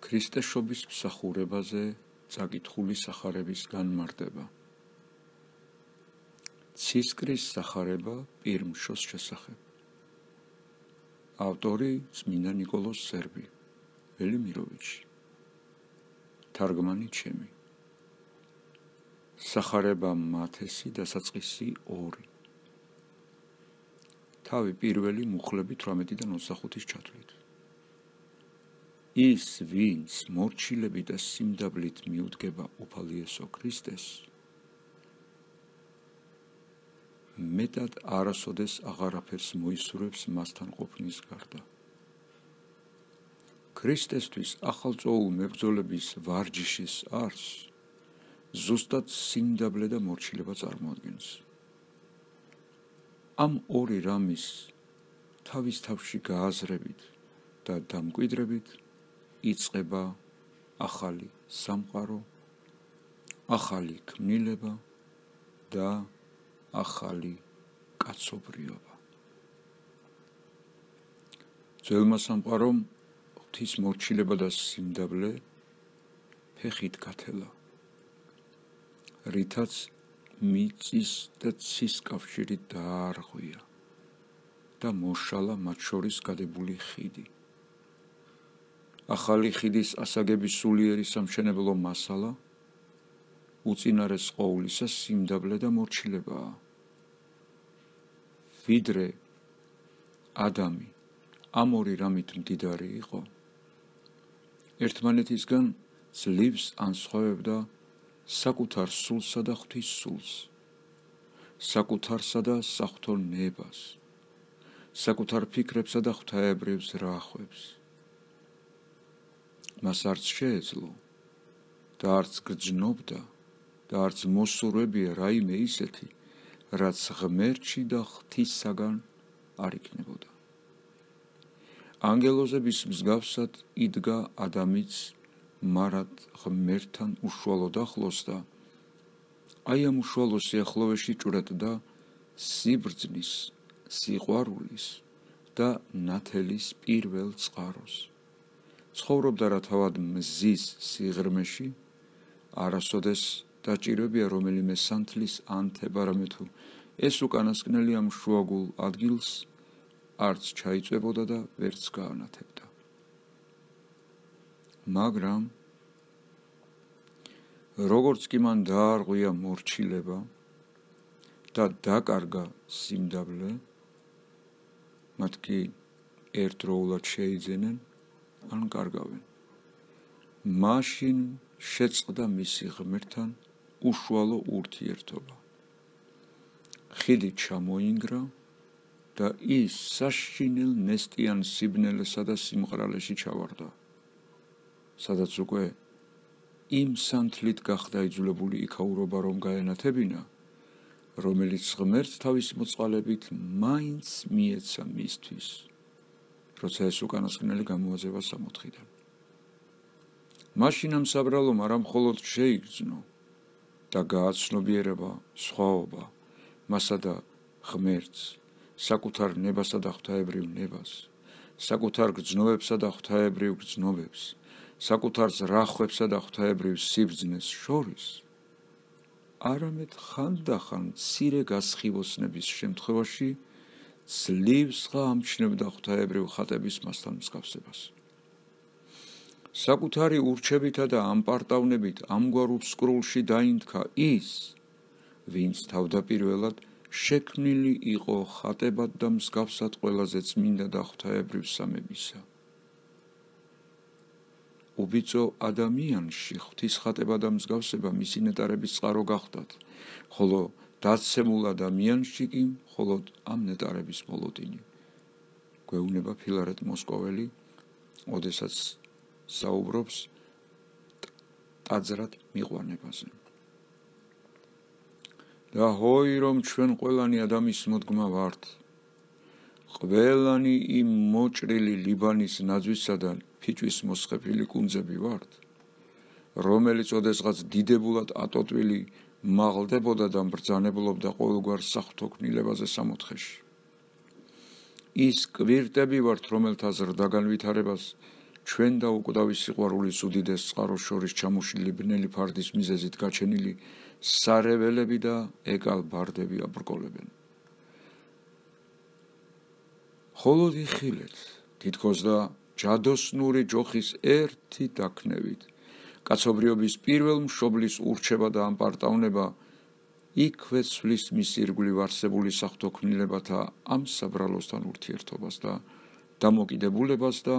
ქრისტეშობის მსახურებაზე წაკითხული სახარების განმარტება. ცისკრის სახარება პირმშოს შესახებ. ავტორი წმინდა ნიკოლოზ სერბი, ველიმიროვიჩი. თარგმანი ჩემი. სახარება მათესი დასაწყისი 2. თავი პირველი მუხლებით 18-დან 25-ის ჩათვლით. ის, ვინც მორჩილები და სიმდაბლით მიუდგება უფალი იესო ქრისტეს, მეტად არასოდეს აღარაფერს მოისურვებს მასთან ყოფნის გარდა. ქრისტესთვის ახალწოულ მებრძოლების ვარჯიშის არს ზუსტად სიმდაბლე და მორჩილება წარმოადგენს. ამ ორი რამის თავის თავში გააზრებით და დამკვიდრებით იწყება ახალი სამყარო, ახალი ქმნილება და ახალი კაცობრიობა. ძველმა სამყარომ ღვთის მორჩილება და სიმდაბლე ფეხით გათელა, რითაც მიწის და ცის კავშირი დაარღვია და მოშალა მათ შორის გადებული ხიდი. ახალი ხიდის ასაგების სულიერი სამშენებლო მასალა უწინარეს ყოვლისა სიმდაბლე და მორჩილებაა. ვიდრე ადამი ამ ორი რამით მდიდარი იყო, ერთმანეთისგან ძლივს ანსხვავებდა საკუთარ სულსა და ღვთის სულს, საკუთარსა და საღვთო ნებას, საკუთარ ფიქრებსა და ღვთაებრივ ზრახვებს. მას არც შეეძლო და არც გრძნობდა და არც მოსურვებია რაიმე ისეთი, რაც ღმერთში და ღვთისაგან არ იქნებოდა. ანგელოზების მსგავსად იდგა ადამიც მარად ღმერთთან უშუალოდ ახლოს და აი ამ უშუალო სიახლოვეში ჭვრეტდა სიბრძნის, სიყვარულის და ნათელის პირველ წყაროს. ცხოვრობდა რა თავად მზის სიღრმეში, არასოდეს დაჭირებია რომელიმე სანთლის ანთება, რამე თუ ეს უკანასკნელი ამ შუაგულ ადგილს არც ჩაიწვებოდა და ვერც გაანათებდა. მაგრამ როგორც კი მან დაარღვია მორჩილება და დაკარგა სიმდაბლე, მათ კი ერთდროულად შეიძენენ ან კარგავენ. მაშინ შეწყდა მისი ღმერთთან უშუალო ურთიერთობა. ხიდი ჩამოინგრა და ის საშინელ ნესტიან სიბნელესა და სიმყრალეში ჩავარდა, სადაც უკვე იმ სანთლით გახდა იძულებული იქაურობა რომ გაენათებინა, რომელიც ღმერთს თავის მოწყალებით მაინც მიეცა მისთვის, როცა ეს უკანასკნელი გამოაძევა სამოთხიდან. მაშინ ამ საბრალომ არა მხოლოდ შეიგრძნო და გააცნობიერება სხვაობა მასა და ღმერთს, საკუთარ ნებასა და ღვთაებრივ ნებას, საკუთარ გრძნობებსა და ღვთაებრივ გრძნობებს, საკუთარ ზრახვებსა და ღვთაებრივ სიბრძნეს შორის, არამედ ხანდახან მცირე გასხივოსნების შემთხვევაში ძლივსღა ამჩნევდა ღვთაებრივ ხატების მასთან მსგავსებას. საკუთარი ურჩებითა და ამპარტავნებით ამგვარ უსკრულში დაინთქა ის, ვინც თავდაპირველად შექმნილი იყო ხატებად და მსგავსად ყველაზე წმინდა და ღვთაებრივ სამებისა. უბიწო ადამიანში ღვთის ხატება და მსგავსება მისი ნეტარების წყარო გახდათ, ხოლო დაცემულ ადამიანში კი მხოლოდ ამ ნეტარების მოლოდინი. გვეუბნება ფილარეტ მოსკოველი, ოდესაც საუბრობს ტაძრად მიყვანებაზე. და ჰოი რომ ჩვენ ყველანი ადამის მოდგმა ვართ, ყველანი იმ მოჭრილი ლიბანის ნაძვისა და ფიჭვის მოსხეფილი კუნძები ვართ, რომელიც ოდესღაც დიდებულად ატოტვილი მაღლდებოდა და მბრძანებლობდა ყოველგვარ საღვთო ქმნილებაზე სამოთხეში. ის კვირტები ვართ, რომელთა ზრდაგან ვითარებას ჩვენ და უკვდავის სიყვარულის უდიდეს წყაროს შორის ჩამოშლილი ბნელი ფარდის მიზეზით გაჩენილი სარეველები და ეკალბარდები აბრკოლებენ. ხოლო იხილეთ, თითქოს და ჯადოსნური ჯოხის ერთი დაქნევით, კაცობრიობის პირველ მშობლის ურჩება და ამპარტავნება იქვე ცვლის მის ირგვლივ არსებული სახთოქმნილებათა ამ საბრალოსთან ურთიერთობას და დამოკიდებულებას და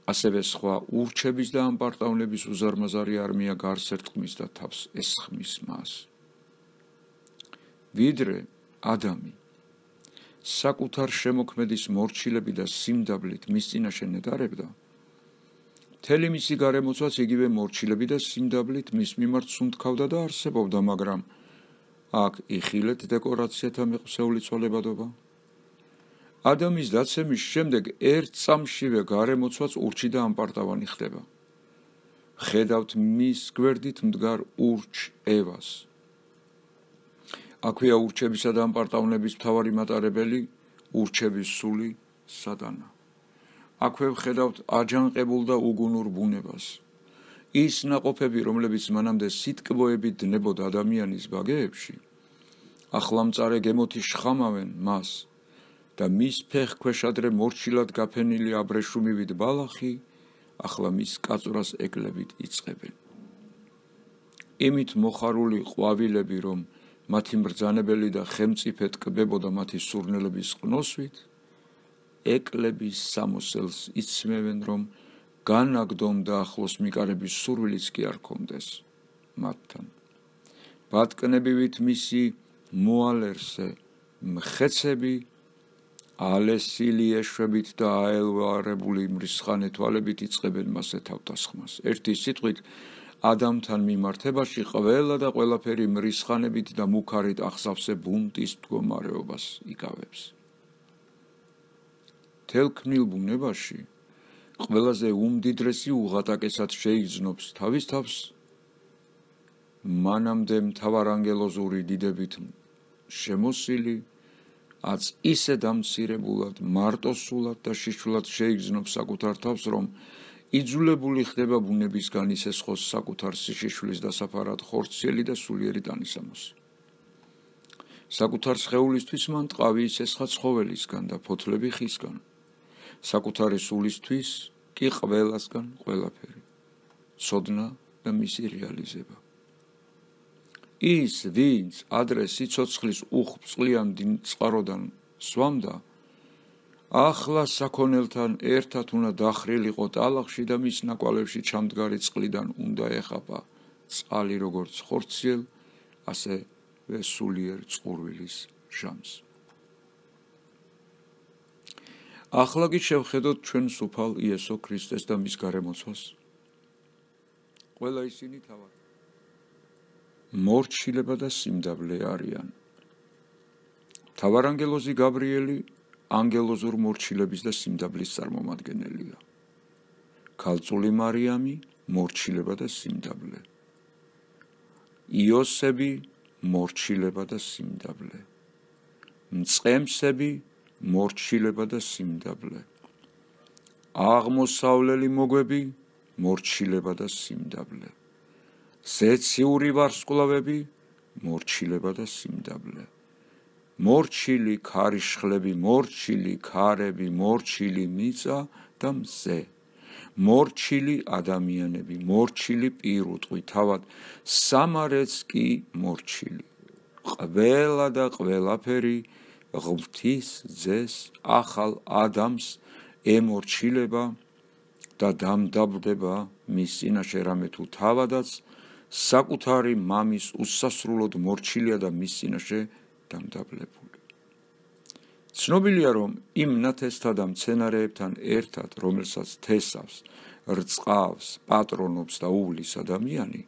ასევე სხვა ურჩების და ამპარტავნების უზარმაზარი არმია გარს ერტყმის და თავს ესხმის მას. ვიდრე ადამი საკუთარ შემოქმედის მორჩილები და სიმდაბლით მის წინაშე ნეტარებდა, მთელი მისი გარემოცვაც იგივე მორჩილები და სიმდაბლით მის მიმართ სუნთქავდა და არსებობდა, მაგრამ აქ იხილეთ დეკორაციათა მიყვრეული ცვალებადობა. ადამის დაცემის შემდეგ ერთ წამშივე გარემოცვაც ურჩი და ამპარტავანი ხდება. ხედავთ მის გვერდით მდგარ ურჩ ევას. აქვეა ურჩებისა და ამპარტავნების მთავარი მატარებელი, ურჩების სული სატანა. აქვე ხედავთ აჯანყებულ და უგუნურ ბუნებას. ის ნაყოფები, რომლებიც მანამდე სიტკბოებით დნებოდა ადამიანის ბაგეებში, ახლა მწარე გემოთი შხამავენ მას და მის ფეხქვეშ ადრე მორჩილად გაფენილი აბრეშუმივით ბალახი, ახლა მის კაწვრას ეკლებით იწყებენ. იმით მოხარული ყვავილები, რომ მათი მბრძანებელი და ხელმწიფე ტკბებოდა მათი სურნელების ყნოსვით, ეკლების სამოსელს იცმევენ, რომ განაგდონ და ახლოს მიკარების სურვილიც კი არ ჰქონდეს მათთან. ბატკნებივით მისი მოალერსე მხეცები ალესილი ეშვებით და აელვარებული მრისხანე თვალებით იწყებენ მასე თავდასხმას. ერთი სიტყვით, ადამთან მიმართებაში ყველა და ყველაფერი მრისხანებით და მუქარით ახსავსე ბუნტის მდგომარეობას იკავებს. თელქმნილ ბუნებაში ყველაზე უმდიდრესი უღატაკესად შეიგრძნობს თავის თავს მანამდე მთავარანგელოზური დიდებით შემოსილი, აც ისე დამცირებულად, მარტოსულად და შიშულად შეიგრძნობს საკუთარ თავს, რომ იძულებული ხდება ბუნებისგან ისესხოს საკუთარ სიშიშვლის დასაფარად ხორციელი და სულიერი ტანისამოსი. საკუთარ სხეულისთვის მან ტყავი ისესხა ცხოველისგან და ფოთლები ხისგან, საკუთარი სულისთვის კი ყველასგან ყველაფერი, ცოდნა და მისი რეალიზება. ის, ვინც ადრე სიცოცხლის უხვწყლიან წყაროდან სვამდა, ახლა საქონელთან ერთად უნდა დახრილიყო ტალახში და მის ნაკვალევში ჩამდგარი წყლიდან უნდა ეხაპა წყალი როგორც ხორციელ, ასევე სულიერ წყურვილის ჟამს. ახლა კი შევხედოთ ჩვენს უფალ იესო ქრისტეს და მის გარემოცვას. ყველა ისინი თავად მორჩილება და სიმდაბლე არიან. მთავარანგელოზი გაბრიელი ანგელოზურ მორჩილების და სიმდაბლის წარმომადგენელია. ქალწული მარიამი მორჩილება და სიმდაბლე. იოსები მორჩილება და სიმდაბლე. მწყემსები მორჩილება და სიმდაბლე. აღმოსავლელი მოგვები მორჩილება და სიმდაბლე. ზეციური ვარსკვლავები მორჩილება და სიმდაბლე. მორჩილი ქარიშხლები, მორჩილი ქარები, მორჩილი მიწა და მზე. მორჩილი ადამიანები, მორჩილი პირუტყვი, თავად სამარეც კი მორჩილი. ყველა და ყველაფერი ღვთის ძეს, ახალ ადამს ემორჩილება და დამდაბლდება მის წინაშე, რამე თუ თავადაც საკუთარი მამის უსასრულოდ მორჩილია და მის წინაშე დამდაბლებული. ცნობილია, რომ იმ ნათესთა და მცენარეებთან ერთად, რომელსაც თესავს, რწყავს, პატრონობს და უვლის ადამიანი,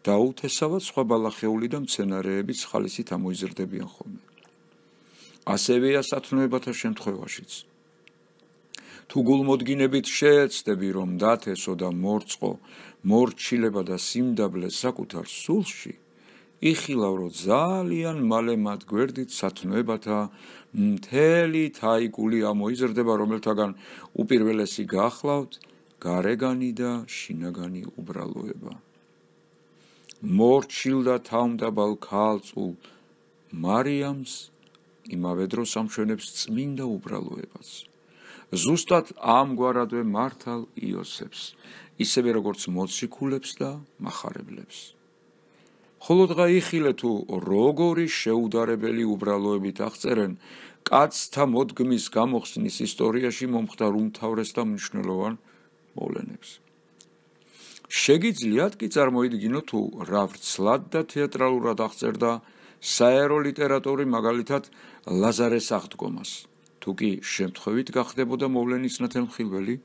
დაუთესავად სხვა ბალახეული და მცენარეებიც ხალისით ამოიზრდებიან ხოლმე. ასევეა სათნოებათა შემთხვევაშიც. თუ გულმოდგინებით შეეცდები, რომ დათესო და მორწყო მორჩილება და სიმდაბლე საკუთარ სულში, იხილავ, რომ ძალიან მალე მათ გვერდით სათნოებათა მთელი თაიგული ამოიზრდება, რომელთაგან უპირველესი გახლავთ გარეგანი და შინაგანი უბრალოება. მორჩილ და თავმდაბალ ქალწულ მარიამს იმავე დროს ამშვენებს წმინდა უბრალოებაც. ზუსტად ამგვარადვე მართალ იოსებს, ისევე როგორც მოციქულებს და მახარებლებს. ხოლო დღა იხილე თუ როგორი შეუდარებელი უბრალოებით აღწერენ კაცთა მოდგმის გამოხსნის ისტორიაში მომხდარ უმთავრეს და მნიშვნელოვან მოვლენებს. შეგიძლიათ კი წარმოიდგინოთ თუ რა ვრცლად და თეატრალურად აღწერდა საერო ლიტერატური მაგალითად ლაზარეს აღდგომას, თუ კი შემთხვევით გახდებოდა მოვლენის ნათელმხილველი,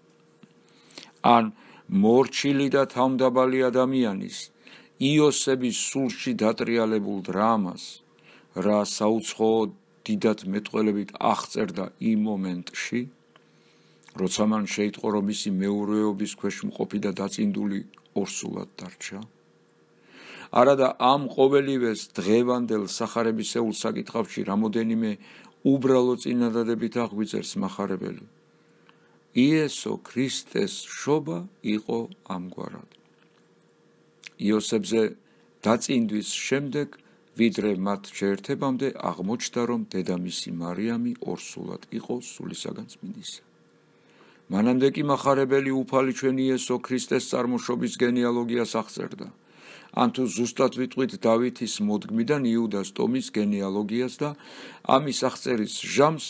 ან მორჩილი და თავმდაბალი ადამიანის იოსების სულში დატრიალებულ დრამას, რა საუცხოო დიდად მეტყველებით აღწერდა იმ მომენტში, როცა მან შეიტყო, რომ მისი მეურვეობის ქვეშ მყოფი და დაწინდული ორსულად დარჩა. არადა ამ ყოველივეს დღევანდელ სახარებისეულ საკითხავში რამოდენიმე უბრალო წინადადებით აღვიწერს მახარებელი. იესო ქრისტეს შობა იყო ამგვარად. იოსებზე დაწინდვის შემდეგ, ვიდრე მათ შეერთებამდე აღმოჩნდა, რომ დედამისი მარიამი ორსულად იყო სულისაგან წმინდისა. მანამდე კი მახარებელი უფალი ჩვენ იესო ქრისტეს წარმოშობის გენეალოგიას აღწერდა. ან თუ ზუსტად ვიტყვით დავითის მოდგმიდან იუდას ტომის გენეალოგიას და ამის აღწერის ჟამს,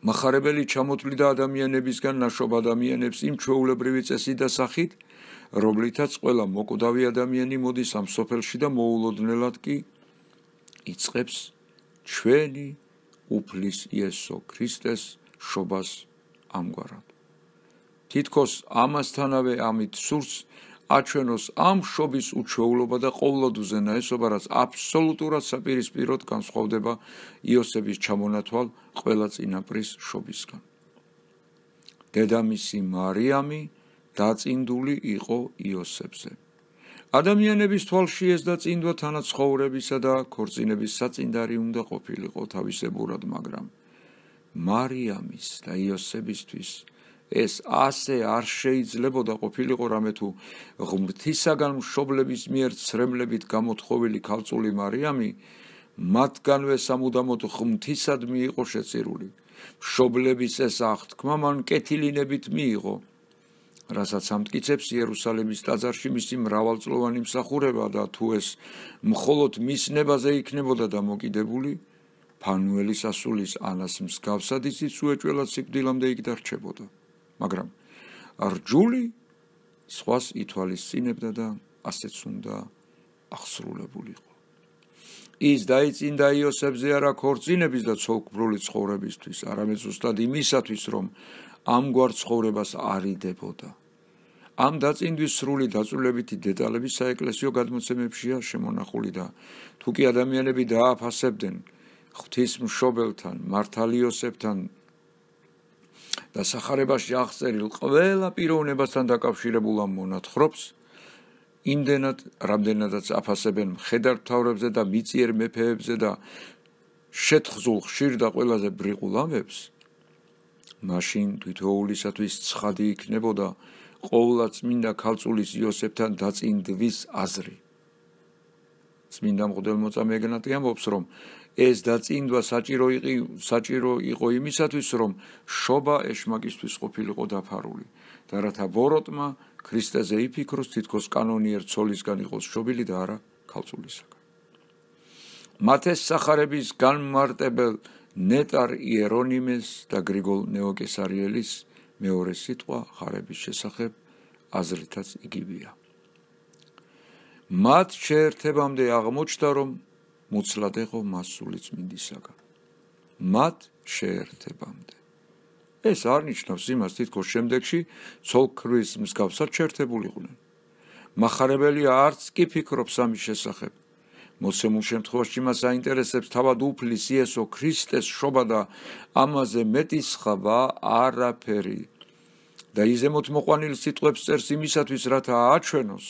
მახარებელი ჩამოთვლიდა ადამიანებისგან ნაშობ ადამიანებს იმ ჩვეულებრივი წესით და სახით, რომლითაც ყველა მოკვდავი ადამიანი მოდის ამ სოფელში და მოულოდნელად კი იწყებს ჩვენი უფლის იესო ქრისტეს შობას ამგვარად. თითქოს ამასთანავე ამით სურს აჩვენოს ამ შობის უჩვეულობა და ყოვლად უზენაესობა, რაც აბსოლუტურად საპირისპიროდ განსხვავდება იოსების ჩამონათვალ ყველა წინაპრის შობისგან. დედამისი მარიამი დაწინდული იყო იოსებზე. ადამიანების თვალში ეს დაწინდვა თანაცხოვრებისა და ქორწინების საწინდარი უნდა ყოფილიყო თავისებურად, მაგრამ მარიამის და იოსებისთვის ეს ასე არ შეიძლებოდა ყოფილიყო, რამე თუ ღმრთისაგან მშობლების მიერ ცრემლებით გამოთხოვილი ქალწული მარიამი მათგანვე სამუდამოდ ღმრთისადმი იყო შეწირული. მშობლების ეს აღთქმა მან კეთილინებით მიიღო, რასაც ამტკიცებს იერუსალიმის ტაძარში მისი მრავალწლოვანი მსახურება და თუ ეს მხოლოდ მის ნებაზე იქნებოდა დამოკიდებული, ფანუელის ასულის ანას მსგავსად ისიც უეჭველად სიკვდილამდე იქ დარჩებოდა. მაგრამ რჯული სხვას ითვალისწინებდა და ასეც უნდა აღსრულებულიყო. ის დაიწინდა იოსებზე არა ქორწინების და ცოლკბრული ცხოვრებისთვის, არამედ ზუსტად იმისათვის, რომ ამგვარ ცხოვრებას არიდებოდა. ამ დაწინდვის სრული დაწვრილებითი დეტალები საეკლესიო გადმოცემებშია შემონახული და თუ კი ადამიანები დააფასებდნენ ღვთისმშობელთან, მართალ იოსებთან და სახარებაში აღწერილ ყველა პიროვნებასთან დაკავშირებულ ამ მონათხრობს, იმდენად, რამდენადაც აფასებენ მხედართმთავრებზე და მიწიერ მეფეებზე და შეთხზულ ხშირ და ყველაზე ბრიყულ ამებს, მაშინ თითოეულისათვის ცხადი იქნებოდა ყოვლა წმინდა ქალწულის იოსებთან დაწინდვის აზრი. წმინდა მღვდელმოწამე ეგნატი ამბობს, რომ ეს დაწინდვა საჭირო იყო იმისათვის, რომ შობა ეშმაკისთვის ყოფილიყო დაფარული და რათა ბოროტმა ქრისტეზე იფიქროს, თითქოს კანონიერ ცოლისგან იყოს შობილი და არა ქალწულისაგან. მათეს სახარების განმარტებელ ნეტარ იერონიმეს და გრიგოლ ნეოკესარიელის მეორე სიტყვა ხარების შესახებ აზრითაც იგივეა. მათ შეერთებამდე აღმოჩნდა, რომ მუცლად ეყო მასული წმინდისაგან. მათ შეერთებამდე. ეს არ ნიშნავს იმას, თითქოს შემდეგში ცოლ-ქმრის მსგავსად შეერთებულიყვნენ. მახარებელი არც კი ფიქრობს ამის შესახებ. მოცემულ შემთხვევაში მას აინტერესებს თავად უფლის იესო ქრისტეს შობა და ამაზე მეტი სხვა არაფერი. და იზემოთ მოყვანილ სიტყვებს წერს იმისათვის, რათა აჩვენოს,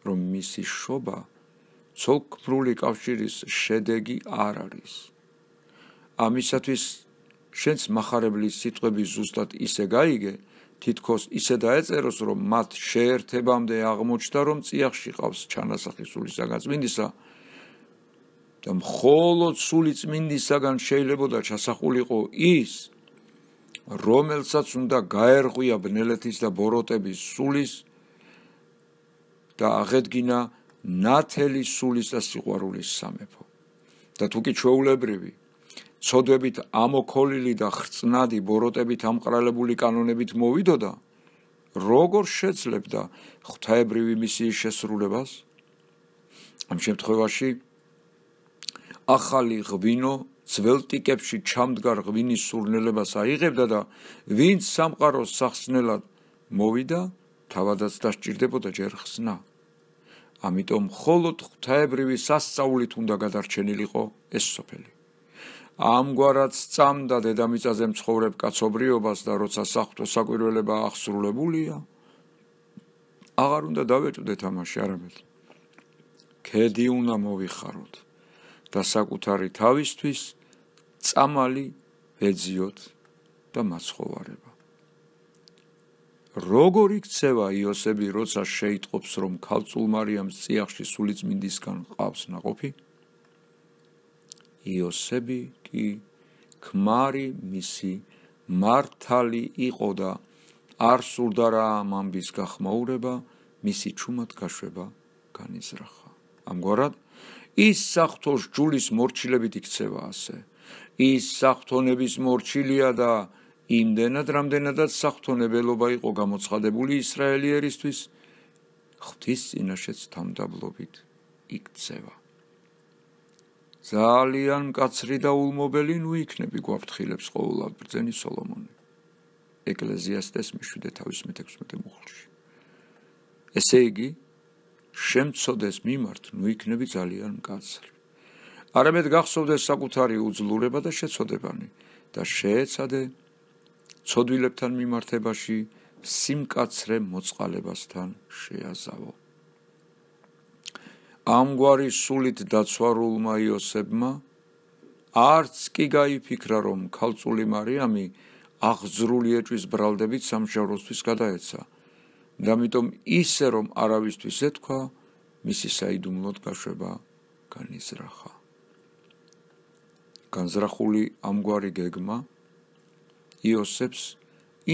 რომ მისი შობა ცოლქმრული კავშირის შედეგი არ არის. ამისათვის შენს მახარებლის სიტყვები ზუსტად ისე გაიგე, თითქოს ისე დაეწეროს, რომ მათ შეერთებამდე აღმოჩნდა, რომ წიაღში ყავს ჩანასახი სულისაგან-წმინდისა და მხოლოდ სულიწმინდისაგან შეიძლებოდა ჩასახულიყო ის, რომელსაც უნდა გაერღვია ბნელეთის და ბოროტების სულის და აღედგინა ნათელი სულის და სიყვარულის სამეფო. და თუ კი ჩვეულებრივი ცოდვებით ამოქოლილი და ხრწნადი ბოროტებით ამყრალებული კანონებით მოვიდოდა, როგორ შეძლებდა ღვთაებრივი მისიის შესრულებას? ამ შემთხვევაში ახალი ღვინო ძველ ტიკებში ჩამდგარ ღვინის სურნელებას აიღებდა და ვინც სამყაროს სახსნელად მოვიდა, თავადაც დასჭირდებოდა ჯერ ხსნა. ამიტომ მხოლოდ ღვთაებრივი სასწაულით უნდა გადარჩენილიყო ეს სოფელი. ამგვარად სწამდა დედამიწაზე მცხოვრებ კაცობრიობას და როცა საღვთო საკვირველება აღსრულებულია, აღარ უნდა დავეჭვდეთ ამაში არამედ. ქედი უნდა მოვიხაროთ და საკუთარი თავისთვის წამალი ვეძიოთ და მაცხოვარება. როგორ იქცევა იოსები, როცა შეიტყობს, რომ ქალწულ მარიამს წიაღში სულიწმინდისგან ყავს ნაყოფი? იოსები კი ქმარი მისი მართალი იყო და არ სურდა რა ამ ამბის გახმაურება, მისი ჩუმად გაშვება განიზრახა. ამგვარად, ის საღვთო სჯულის მორჩილებით იქცევა ასე. ის საღვთონების მორჩილია და იმდენად, რამდენადაც საღვთონებელობა იყო გამოცხადებული ისრაელიერისთვის, ღვთის წინაშეც თამდაბლობით იქცევა. ძალიან მკაცრი და ულმობელი ნუ იქნები გვაფრთხილებს ყოველად ბრძენი სოლომონი. ეკლესიასტეს მე-7:16 მუხლში. ესე იგი, შემცოდეს მიმართ ნუ იქნები ძალიან მკაცრი. არამედ გახსოვდეს საკუთარი უძლურება და შეცოდებანი და შეეცადე ცოდვილებთან მიმართებაში სიმკაცრე მოწყალებასთან შეაზავო. ამგვარი სულით დაცვარულმა იოსებმა არც კი გაიფიქრა, რომ ქალწული მარიამი აღძრული ეჭვის ბრალდებით სამშაბლოსთვის გადაეცა და ამიტომ ისე რომ არავისთვის ეთქვა, მისი საიდუმლოდ გაშვება განიზრახა. განზრახული ამგვარი გეგმა იოსებს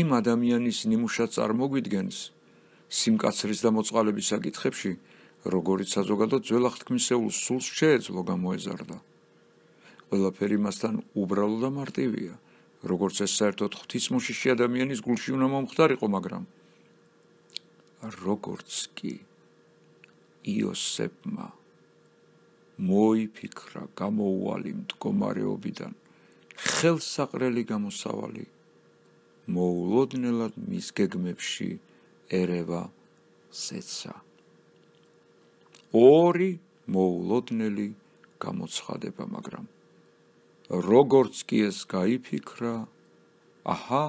იმ ადამიანის ნიმუშად წარმოგვიდგენს სიმკაცრის და მოწყალების საკითხებში, როგორიც საზოგადოდ ძველ აღთქმისეულ სულს შეეძლო გამოეზარდა. ყველაფერი მასთან უბრალო და მარტივია, როგორც ეს საერთოდ ღვთისმოშიში ადამიანის გულში უნდა მომხდარიყო, მაგრამ როგორც კი იოსებმა მოიფიქრა გამოუვალი მდგომარეობიდან ხელსაყრელი გამოსავალი, მოულოდნელად მის გეგმებში ერევა ზეცა. ორი მოულოდნელი გამოცხადება, მაგრამ როგორც კი ეს გაიფიქრა, აჰა,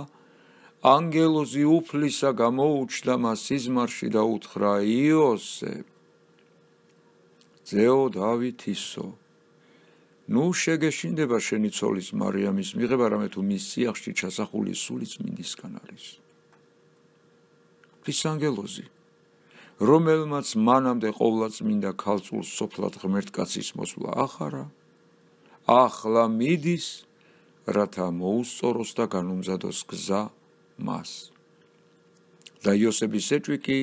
ანგელოზი უფლისა გამოუჩნდა მას სიზმარში და უთხრა: იოსებ, ძეო დავითისო, ნუ შეგეშინდება შენი ცოლის მარიამის მიღება, რამე თუ მის სიახში ჩასახული სულიწმინდისგან არის. ღვთის ანგელოზი, რომელმაც მანამდე ყოვლადწმინდა ქალწულს სოფლად ღმერთკაცის მოსვლა ახარა, ახლა მიდის, რათა მოუსწოროს და განუმზადოს გზა მას. და იოსების ეჭვი კი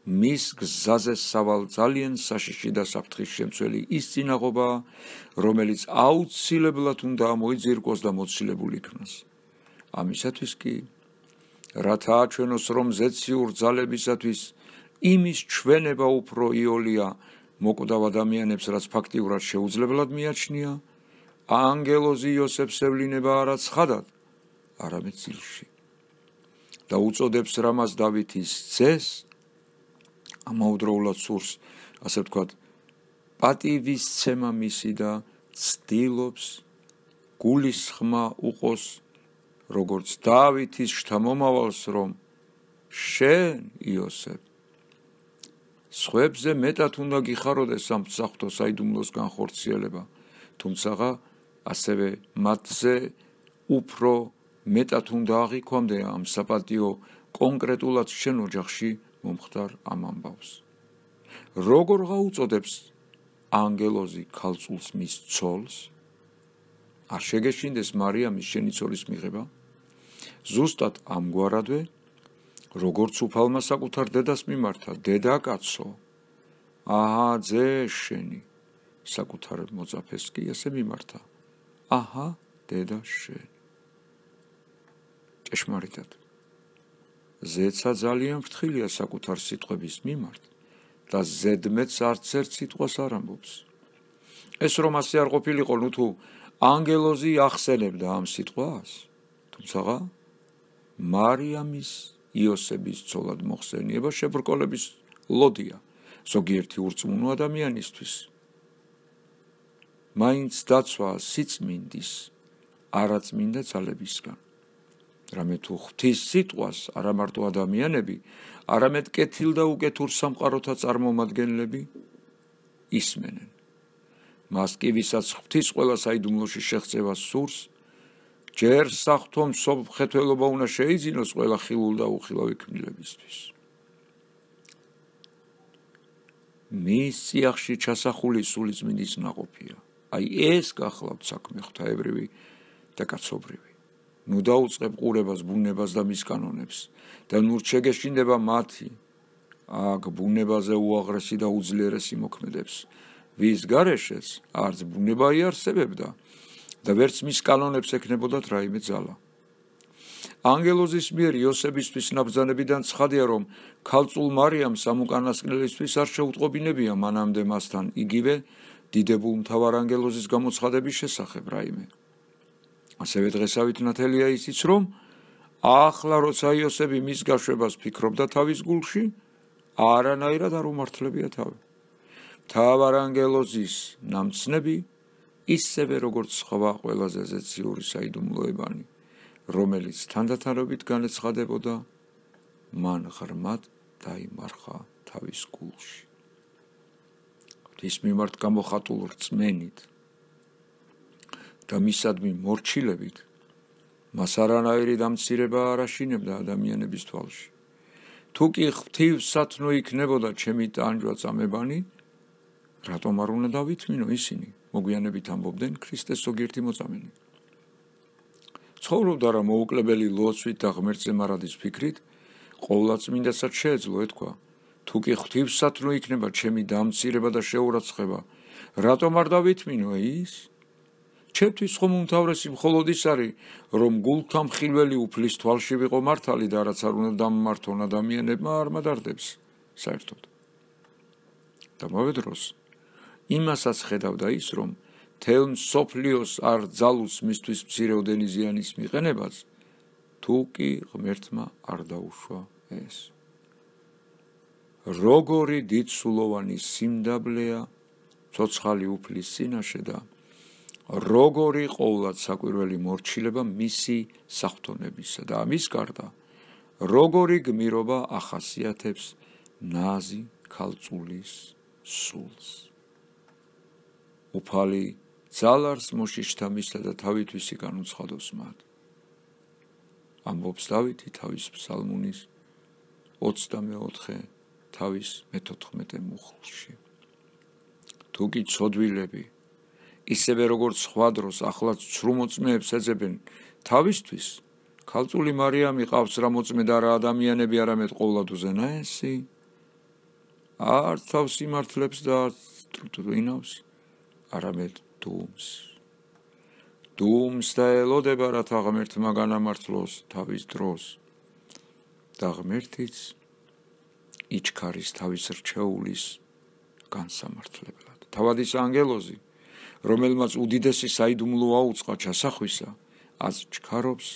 მის გზაზე სავალ ძალიან საშიში და საფრთხის შემცველი ის წინაღობა, რომელიც აუცილებლად უნდა მოიძირკოს და მოცილებული იქნას. ამისათვის კი, რათა აჩვენოს, რომ ზეციურ ძალებისათვის იმის ჩვენება უფრო იოლია მოკვდავ ადამიანებს, რაც ფაქტიურად შეუძლებლად მიაჩნია, ანგელოზი იოსებს ევლინება არა ცხადად, არამედ ძილში. და უწოდებს რამას დავითის ძეს, ამავდროულად სურს, ასე ვთქვათ, პატივისცემა მისი და ცდილობს გულისხმა უყოს, როგორც დავითის შთამომავალს, რომ შენ, იოსებ, სხვებზე მეტად უნდა გიხაროდეს ამ საფრთხო საიდუმლოს განხორციელება, თუმცა ასევე მათზე უფრო მეტად უნდა აღიქვამდე ამ საპატიო კონკრეტულად შენ ოჯახში მომხდარ ამ ამბავს. როგორ გაუწოდებს ანგელოზი ქალწულს მის ცოლს? არ შეგეშინდეს მარიამის შენი ცოლის მიღება? ზუსტად ამგვარადვე, როგორც უფალმა საკუთარ დედას მიმართა, დედა კაცო, აჰა ძე შენი, საკუთარ მოწაფეს კი ასე მიმართა, აჰა დედა შენი. ჭეშმარიტად, ზეცა ძალიან ფრთხილია საკუთარ სიტყვების მიმართ და ზედმეტს არც ერთ სიტყვას არ ამბობს. ეს რომ ასე არ ყოფილიყო, ნუ თუ ანგელოზი ახსენებდა ამ სიტყვას, თუმცა მარიამის იოსების ცოლად მოხსენება შებრკოლების ლოდია ზოგიერთი ურწმუნო ადამიანისთვის. მაინც დაცვა სიწმინდის არაწმინდა ძალებისგან. რამე თუ ღვთის სიტყვას არა მარტო ადამიანები, არამედ კეთილ და უკეთურ სამყაროთა წარმომადგენლები ისმენენ. მას კი ვისაც ღვთის ყველა საიდუმლოში შეღწევა სურს, ჯერ საღვთო მსოფლმხედველობა უნდა შეიძინოს ყველა ხილულ და უხილავი ქმნილებისთვის. მის წიაღში ჩასახული სულიწმინდის ნაყოფია. აი ეს გახლავთ საქმე ღვთაებრივი და კაცობრივი. ნუ დაუწყებ ყურებას ბუნებას და მის კანონებს და ნუ შეგეშინდება მათი აქ ბუნებაზე უაღრესი და უძლიერესი მოქმედებს, ვის გარეშეც არც ბუნება იარსებებდა და ვერც მის კანონებს ექნებოდათ რაიმე ძალა. ანგელოზის მიერ იოსებისთვის ნაბრძანებიდან ცხადია, რომ ქალწულ მარიამს ამ უკანასკნელისთვის არ შეუტყობინებია მანამდე მასთან იგივე დიდებულ მთავარ ანგელოზის გამოცხადების შესახებ რაიმე. ასევე დღესავით ნათელია ისიც, რომ ახლა როცა იოსები მის გაშვებას ფიქრობდა თავის გულში, არანაირად არ უმართლებია თავი. მთავარ ანგელოზის ნამცნები ისევე როგორც სხვა ყველაზე ზეციური საიდუმლოებანი, რომელიც თანდათანობით განეცხადებოდა, მან ღრმად დაიმარხა თავის გულში. ღვთის მიმართ გამოხატულ რწმენით და მისადმი მორჩილებით მას არანაირი დამცირება არ აშინებდა ადამიანების თვალში. თუ კი ღვთივსათნო იქნებოდა ჩემი ტანჯვა წამებანი, რატომ არ უნდა დავითმინო ისინი? მოგვიანებით ამბობდნენ ქრისტეს ზოგიერთი მოწამენი. ცხოვრობდა რა მოუკლებელი ლოცვით და ღმერთზე მარადის ფიქრით, ყოვლადწმინდასაც შეეძლო ეთქვა, თუ კი ღვთივსათნო იქნება ჩემი დამცირება და შეურაცხება, რატომ არ დავითმინო ის? ჩემთვის ხომ უმთავრესი მხოლოდ ის არის, რომ გულთა მხილველი უფლის თვალში ვიყო მართალი და რაც არ უნდა დამმართონ ადამიანებმა არ მადარდებს საერთოდ. და მოვედროს იმასაც ხედავდა ის, რომ თელ მსოფლიოს არ ძალუს მისთვის მცირეოდენი ზიანის მიყენებაც, თუ კი ღმერთმა არ დაუშვა ეს. როგორი დიდსულოვანი სიმდაბლეა ცოცხალი უფლის წინაშე და როგორი ყოვლად საკვირველი მორჩილება მისი საღვთონებისა და ამის გარდა, როგორი გმირობა ახასიათებს ნაზი ქალწულის სულს. უფალი ძალარს მოშიშთა მისთა და თავითვისი განუცხადოს მათ. ამბობს დავითი თავის ფსალმუნის 24 თავის 14 მუხლში. თუ კი ცოდვილები ისევე როგორც სხვა დროს ახლაც ცრუმოწმეებს ეძებენ თავისთვის, ქალწული მარიამი ყავს რა მოწმე და რა ადამიანები არამედ ყოვლად უზენაესი, არც თავს იმართლებს და არც ტრუტვინავს, არამედ დუმს. დუმს და ელოდება, რათა ღმერთმა განამართლოს თავის დროს და ღმერთიც იჩქარის თავის რჩეულის განსამართლებლად. თავად ის ანგელოზი, რომელმაც უდიდესი საიდუმლო აუწყა ჩასახვისა, ას ჩქარობს,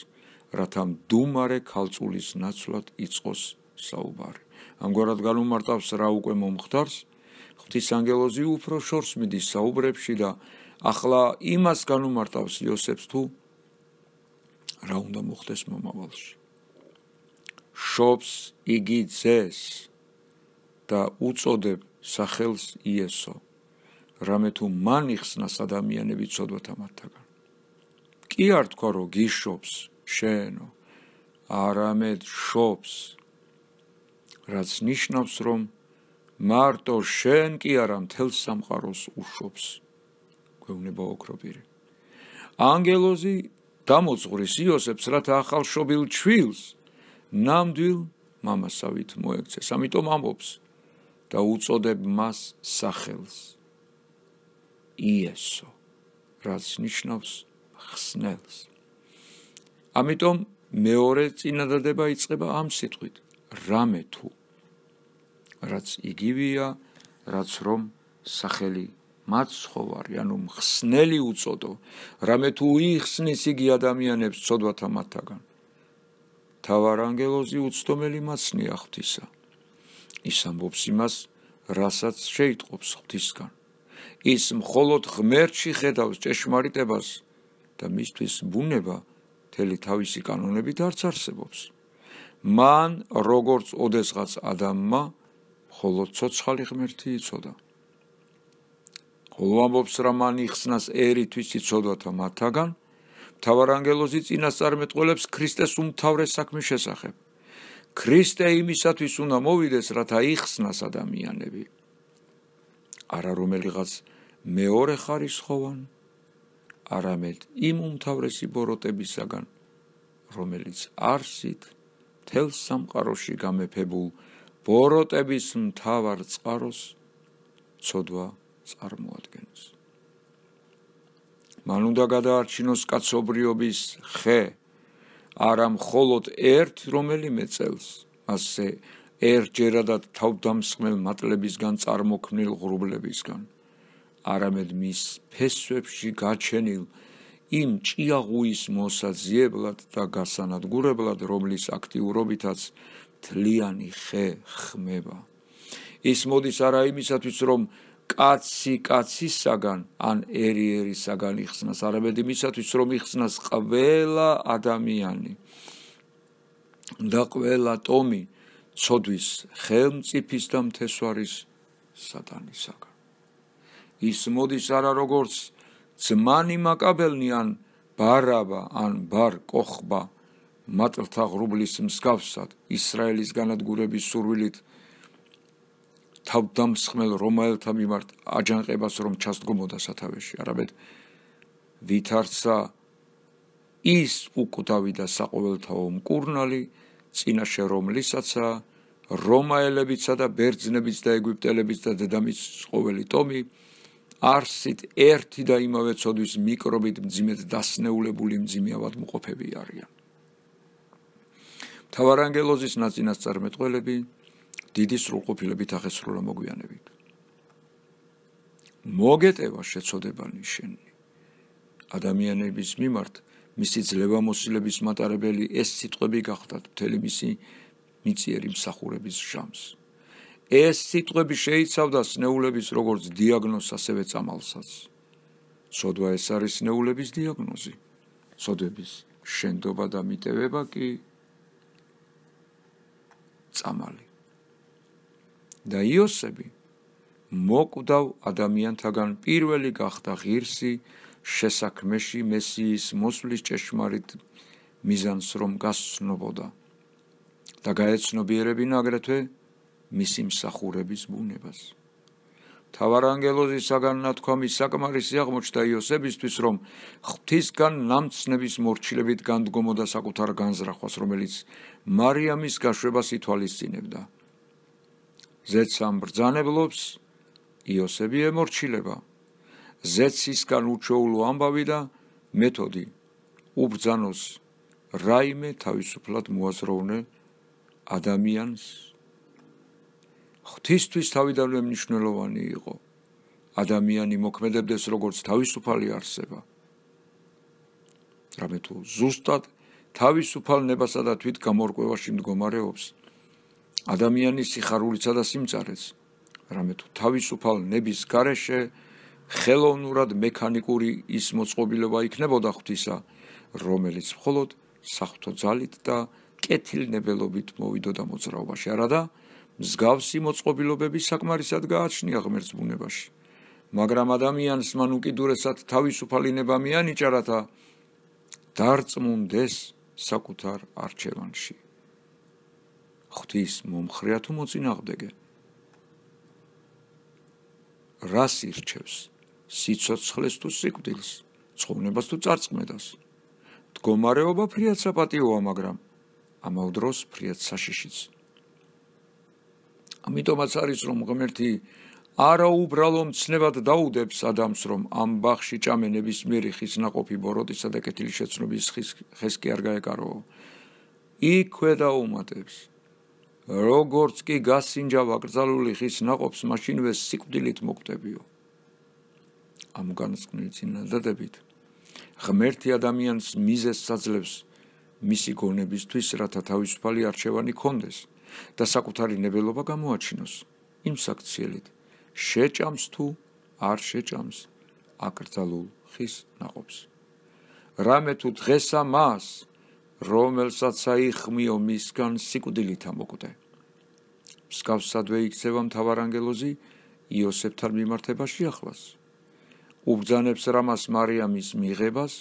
რათა მდუმარე ქალწულის ნაცვლად იწყოს საუბარი. ამგვარად განუმარტავს რა უკვე მომხდარს, ღვთის ანგელოზი უფრო შორს მიდის საუბრებში და ახლა იმას განუმარტავს იოსებს თუ რა უნდა მოხდეს მომავალში. შობს იგი ძეს, და უწოდებ სახელს იესო, რამე თუ მან იხსნას ადამიანები ცოდვათა მათთაგან. კი არ თქვა, რომ გიშობს შენო, არამედ შობს, რაც ნიშნავს, რომ მარტო შენ კი არა მთელ სამყაროს უშობს. გვევნება ოქროპირი. ანგელოზი დამოძღვრის იოსებს, რათა ახალშობილ ჩვილს ნამდვილ მამასავით მოექცეს. ამიტომ ამბობს და უწოდებ მას სახელს იესო, რაც ნიშნავს ხსნელს. ამიტომ მეორე წინადადება იწყება ამ სიტყვით, რამე თუ, რაც იგივეა, რაც რომ სახელი მაცხოვარი, ანუ მხსნელი უწოდო, რამე თუ იხსნის იგი ადამიანებს ცოდვათა მათთაგან. მთავარანგელოზი უცდომელი მაცნია ღვთისა. ის ამბობს იმას, რასაც შეიტყობს ღვთისგან. ის მხოლოდ ღმერთში ხედავს ჭეშმარიტებას და მისთვის ბუნება მთელი თავისი კანონებით არც არსებობს. მან, როგორც ოდესღაც ადამმა, მხოლოდ ცოცხალი ღმერთი იცოდა. ხოლო ამბობს, რა მან იხსნას ერისთვის იცოდვათა მათთაგან, მთავარანგელოზი წინასწარმეტყველებს ქრისტეს უმთავრეს საქმის შესახებ. ქრისტე იმისათვის უნდა მოვიდეს, რათა იხსნას ადამიანები. არა რომელიღაც მეორე ხარისხოვან, არამედ იმ უმთავრესი ბოროტებისაგან, რომელიც არსით მთელ სამყაროში გამეფებულ ბოროტების მთავარ წყაროს ცოდვა წარმოადგენს. მან უნდა გადაარჩინოს კაცობრიობის ხე, არა მხოლოდ ერთ რომელიმე წელს, მასზე ერთჯერადად თავდამსხმელ მატლებისგან წარმოქმნილ ღრუბლებისგან, არამედ მის ფესვებში გაჩენილ იმ ჭიაღუის მოსაძიებლად და გასანადგურებლად, რომლის აქტიურობითაც მთლიანი ხე ხმება. ის მოდის არა იმისათვის, რომ კაცი კაცისაგან ან ერი ერისაგან იხსნას, არამედ იმისათვის, რომ იხსნას ყველა ადამიანი და ყველა ტომი ცოდვის ხელმწიფის და მთესვარის სატანისაგან. ის მოდის არა როგორც ძმანი მაკაბელნი ან ბარაბა ან ბარ კოხბა მატლთა ღრუბლის მსგავსად ისრაელის განადგურების სურვილით თავდამსხმელ რომაელთა მიმართ აჯანყებას რომ ჩასდგომოდა სათავეში, არამედ ვითარცა ის უკვდავი და საყოველთაო მკურნალი, წინაშე რომლისაცა რომაელებიცა და ბერძნებიც და ეგვიპტელებიც და დედამიწის ყოველი ტომი არსით ერთი და იმავე ცოდვის მიკრობით მძიმედ დასნეულებული მძიმე ავადმყოფები არიან. მთავარანგელოზის ნაწინასწარმეტყველები დიდი სრულყოფილებით ახესრულა მოგვიანებით. მოგეტევა შეცოდებანი შენი. ადამიანების მიმართ მისი ძლევამოსილების მატარებელი ეს სიტყვები გახდათ მთელი მისი მიწიერი მსახურების ჟამს. ეს სიტყვები შეიცავდა სნეულების როგორც დიაგნოზს, ასევე წამალსაც. ცოდვა ეს არის სნეულების დიაგნოზი. ცოდვების შენდობა და მიტევება კი წამალი. და იოსები მოკვდავ ადამიანთაგან პირველი გახდა ღირსი შესაქმეში მესიის მოსვლის ჭეშმარიტ მიზანს რომ გასცნობოდა და გაეცნობიერებინა აგრეთვე მისი მსახურების ბუნებას. მთავარანგელოზისაგან ნათქვამი საკმარისი აღმოჩნდა იოსებისთვის, რომ ღვთისგან ნამცნების მორჩილებით განდგომოდა საკუთარ განზრახვას, რომელიც მარიამის გაშვებას ითვალისწინებდა. ზეცამ ბრძანებლობს, იოსები ემორჩილება. ზეცისგან უჩვეულო ამბავი და მეთოდი უბრძანოს რაიმე თავისუფლად მოაზროვნე ადამიანს. ღვთისთვის თავიდანვე მნიშვნელოვანი იყო ადამიანი მოქმედებდეს როგორც თავისუფალი არსება. რამე თუ ზუსტად თავისუფალ ნებასა და თვით გამორკვევაში მდგომარეობს ადამიანის სიხარულიცა და სიმწარეც, რამე თუ თავისუფალ ნების გარეშე ხელოვნურად მექანიკური ის მოწყობილება იქნებოდა ღვთისა, რომელიც მხოლოდ საღვთო ძალით და კეთილნებელობით მოვიდოდა მოძრაობაში, არადა მსგავსი მოწყობილობები საკმარისად გააჩნია ღმერთს ბუნებაში, მაგრამ ადამიანს მან უკიდურესად თავისუფალი ნება მიანიჭა, რათა დარწმუნდეს საკუთარ არჩევანში. ღვთის მომხრეა თუ მოწინააღმდეგე? რას ირჩევს? სიცოცხლეს თუ სიკვდილს, ცხოვრებას თუ წარწმედას? მდგომარეობა ფრიად საპატიოა, მაგრამ ამავ დროს ფრიად საშიშიც. ამიტომაც არის, რომ ღმერთი არაუბრალო მცნებად დაუდებს ადამიანს, რომ ამ ბაღში ჭამე ნებისმიერი ხის ნაყოფი ბოროტისა და კეთილი შეცნობის ხეს კი არ გაეკაროო. იქვე დაუმატებს, როგორც კი გასინჯავ აკრძალული ხის ნაყოფს, მაშინვე სიკვდილით მოკვდებიო. ამ განსკვნელი წინადადებით ღმერთი ადამიანს მიზეზს აძლევს მისი გონებისთვის, რათა თავისუფალი არჩევანი ჰქონდეს და საკუთარი ნებელობა გამოაჩინოს იმ საქციელით, შეჭამს თუ არ შეჭამს აკრძალულ ხის ნაყოფს. რამე თუ დღესა მას, რომელსაც აიხმიო მისგან, სიკვდილით ამოკვდე. მსგავსადვე იქცევა მთავარანგელოზი იოსებთან მიმართებაში ახლას. უბრძანებს რამას მარიამის მიღებას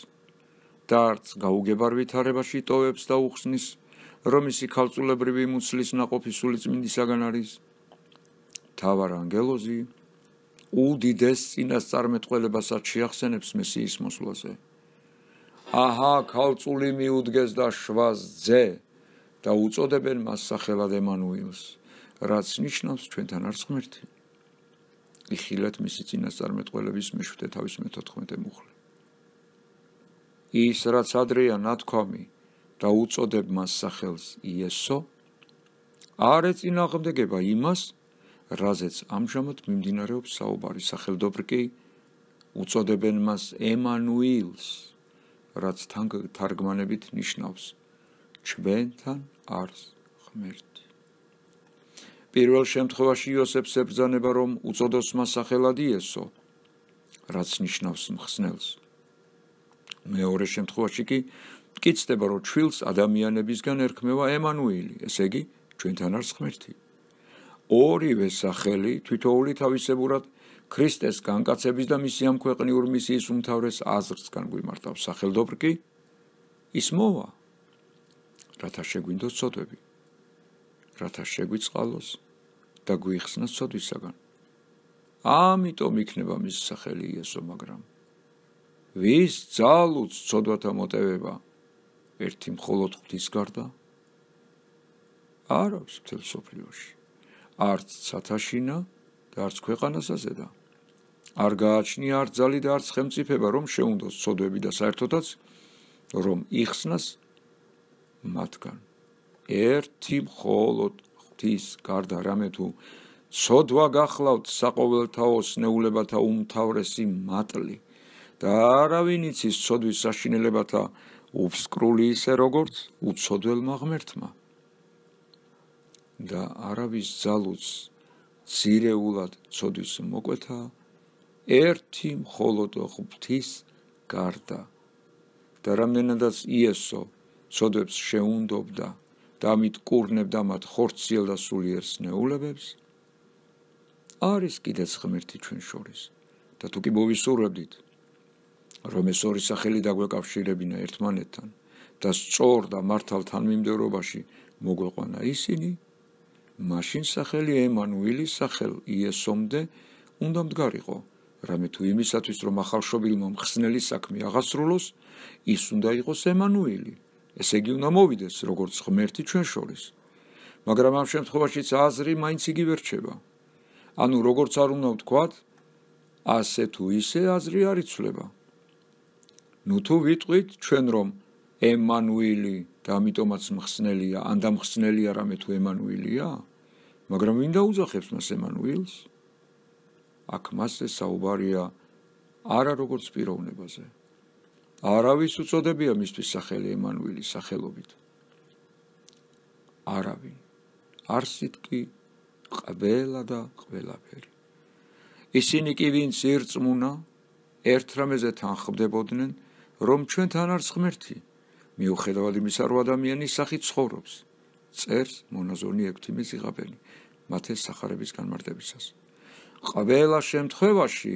და არც გაუგებარ ვითარებაში ტოვებს და უხსნის, რომ ისი ქალწულებრივი მუცლის ნაყოფი სულიწმინდისაგან არის. მთავარანგელოზი უდიდეს წინასწარმეტყველებასაც შეახსენებს მესიის მოსვლაზე. აჰა, ქალწული მიუდგეს და შვას ძე და უწოდებენ მას სახელად ემანუილს, რაც ნიშნავს ჩვენთან არის ღმერთი. იხილეთ მისი წინასწარმეტყველების მე-7 თავის მე-14 მუხლი. ის, რაც ადრეა ნათქვამი და უწოდებ მას სახელს იესო, არ ეწინააღმდეგება იმას, რაზეც ამჟამად მიმდინარეობს საუბარი. სახელდობრივ კი უწოდებენ მას ემანუილს, რაც თარგმანებით ნიშნავს ჩვენთან არის ღმერთი. პირველ შემთხვევაში იოსებს ებრძანება, რომ უწოდოს მას სახელად იესო, რაც ნიშნავს მხსნელს. მეორე შემთხვევაში კი მტკიცდება, რომ ჩვილს ადამიანებისგან ერქმევა ემანუილი, ესე იგი ჩვენთან არის ღმერთი. ორივე სახელი თითოეული თავისებურად ქრისტეს განკაცების და მისი ამ ქვეყნიურ მისიის უმთავრეს აზრსგან გვიმარტავს. სახელდობრივ კი ის მოვა, რათა შეგვინდოს ცოდვები, რათა შეგვიწყალოს და გვიხსნას ცოდვისაგან. ამიტომ იქნება მის სახელი იესო, მაგრამ ვის ძალუც ცოდვათა მოტევება ერთი მხოლოდ ღვთის გარდა არ აქვს მთელ მსოფლიოში, არც ცათაშინა და არც ქვეყანასაზედა. არ გააჩნია არც ძალი და არც ხელმწიფება, რომ შეუნდოს ცოდვები და საერთოდაც რომ იხსნას მათგან. ერთი მხოლოდ ღვთის გარდა რამე თუ ცოდვა გახლავთ საყოველთაო სნეულებათა უმთავრესი მატლი და არავინ იცის ცოდვის საშინელებათა უფსკრული ისე როგორც უცოდველმა ღმერთმა და არავის ძალუც ძირეულად ცოდვის მოკვეთა ერთი მხოლოდ ღვთის გარდა და რამდენადაც იესო ცოდვებს შეუნდობდა და ამით კურნებდა მათ ხორციელ და სულიერ სნეულებებს, არის კიდეც ღმერთი ჩვენ შორის და თუ კი მოვისურვებდით, რომ ეს ორი სახელი დაგვეკავშირებინა ერთმანეთთან და სწორ და მართალ თანმიმდევრობაში მოგვეყვანა ისინი, მაშინ სახელი ემანუილის სახელ იესომდე უნდა მდგარიყო, რამე თუ იმისათვის, რომ ახალშობილმა მხსნელი საქმე აღასრულოს, ის უნდა იყოს ემანუილი, ესე იგი უნდა მოვიდეს როგორც ღმერთი ჩვენ შორის. მაგრამ ამ შემთხვევაშიც აზრი მაინც იგივე რჩება. ანუ როგორც არ უნდა ვთქვათ, ასე თუ ისე აზრი არ იცვლება. ნუ თუ ვიტყვით ჩვენ, რომ ემანუილი და ამიტომაც მხსნელია, ან და მხსნელია რამე თუ ემანუილია, მაგრამ ვინ დაუძახებს მას ემანუილს? აქ მასზე საუბარია არა როგორც პიროვნებაზე. არავის უწოდებია მისთვის სახელი ემანუილის სახელობით. არავინ. არსით კი ყველა და ყველაფერი. ისინი კი ვინც ირწმუნა, ერთ რამეზე თანხმდებოდნენ, რომ ჩვენთან არის ღმერთი, მიუხედავად იმისა, რომ ადამიანის სახით ცხოვრობს. წერს მონაზონი ექვთიმე ზიღაბენი. მათე სახარების განმარტებისას. ყველა შემთხვევაში